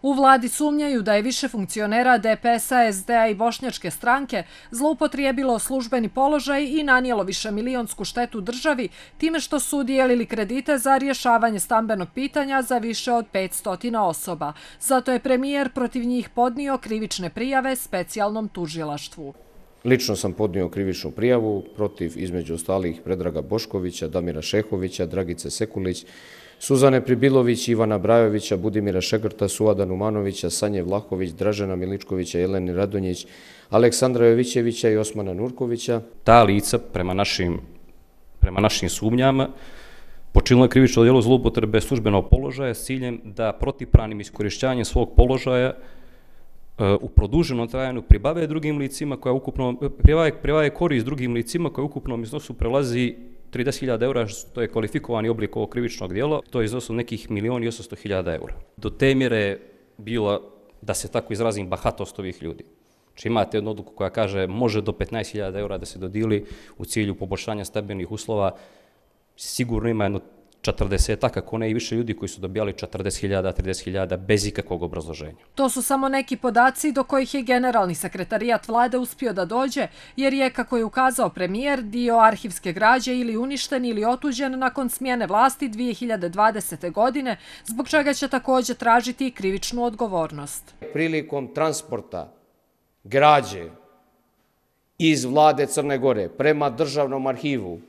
U vladi sumnjaju da je više funkcionera DPS-a, SD-a i Bošnjačke stranke zloupotrijebilo službeni položaj i nanijelo višemilionsku štetu državi time što su dijelili kredite za rješavanje stambenog pitanja za više od 500 osoba. Zato je premijer protiv njih podnio krivične prijave specijalnom tužilaštvu. Lično sam podnio krivičnu prijavu protiv, između ostalih, Predraga Boškovića, Damira Šehovića, Dragice Sekulić, Suzane Pribilović, Ivana Brajovića, Budimira Šegrta, Suada Numanovića, Sanje Vlahović, Dražena Miličkovića, Jeleni Radonjić, Aleksandra Jovićevića i Osmana Nurkovića. Ta lica, prema našim sumnjama, počinila je krivično djelo zloupotrebe službenog položaja s ciljem da protivpravnim iskorišćavanjem svog položaja u produženom trajanju pribave drugim licima koja ukupno pribave korist drugim licima koja u ukupnom iznosu prelazi 30.000 eura, što je kvalifikovani oblik ovog krivičnog djela, to je iznosu nekih 1.800.000 eura. Do te mjere je bila, da se tako izrazim, bahatost ovih ljudi. Znači imate jednu odluku koja kaže može do 15.000 eura da se dodijeli u cilju poboljšanja stambenih uslova, sigurno ima jedno 40, kako ne i više ljudi koji su dobijali 40.000, 30.000 bez ikakvog obrazloženja. To su samo neki podaci do kojih je generalni sekretarijat vlade uspio da dođe, jer je, kako je ukazao premijer, dio arhivske građe ili uništen ili otuđen nakon smjene vlasti 2020. godine, zbog čega će također tražiti krivičnu odgovornost. Prilikom transporta građe iz vlade Crne Gore prema državnom arhivu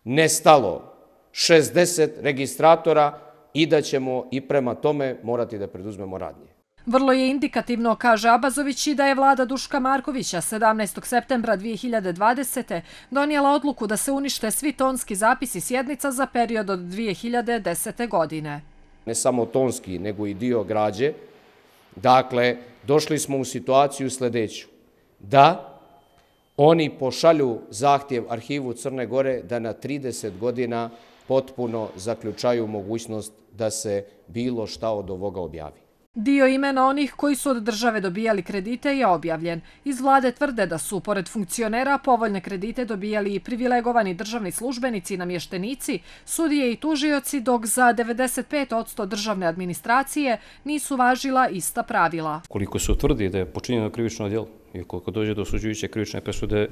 nestalo 60 registratora i da ćemo i prema tome morati da preduzmemo radnje. Vrlo je indikativno, kaže Abazović, i da je vlada Duška Markovića 17. septembra 2020. donijela odluku da se unište svi tonski zapisi sjednica za period od 2010. godine. Ne samo tonski, nego i dio građe. Dakle, došli smo u situaciju sljedeću, da oni pošalju zahtjev arhivu Crne Gore da na 30 godina potpuno zaključaju mogućnost da se bilo šta od ovoga objavi. Dio imena onih koji su od države dobijali kredite je objavljen. Iz vlade tvrde da su, pored funkcionera, povoljne kredite dobijali i privilegovani državni službenici i namještenici, sudije i tužioci, dok za 95% državne administracije nisu važila ista pravila. Koliko se utvrdi da je počinjeno krivično djelo i koliko dođe do osuđujuće krivične presude,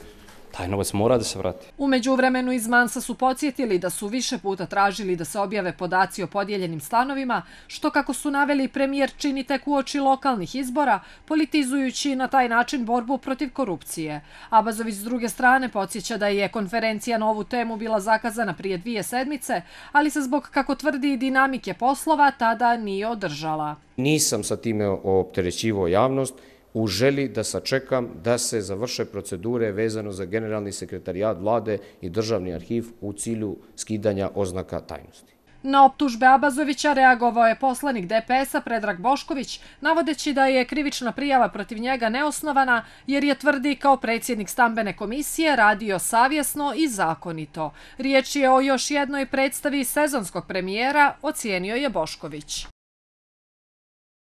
taj novac mora da se vrati. U međuvremenu iz Mansa su podsjetili da su više puta tražili da se objave podaci o podijeljenim stanovima, što, kako su naveli, premijer čini tek uoči lokalnih izbora, politizujući na taj način borbu protiv korupcije. Abazović s druge strane podsjeća da je konferencija na ovu temu bila zakazana prije 2 sedmice, ali se zbog, kako tvrdi, dinamike poslova tada nije održala. Nisam sa time opterećivao javnost, u želi da sačekam da se završe procedure vezano za generalni sekretarijat vlade i državni arhiv u cilju skidanja oznaka tajnosti. Na optužbe Abazovića reagovao je poslanik DPS-a Predrag Bošković, navodeći da je krivična prijava protiv njega neosnovana jer je, tvrdi, kao predsjednik stambene komisije radio savjesno i zakonito. Riječ je o još jednoj predstavi sezonskog premijera, ocijenio je Bošković.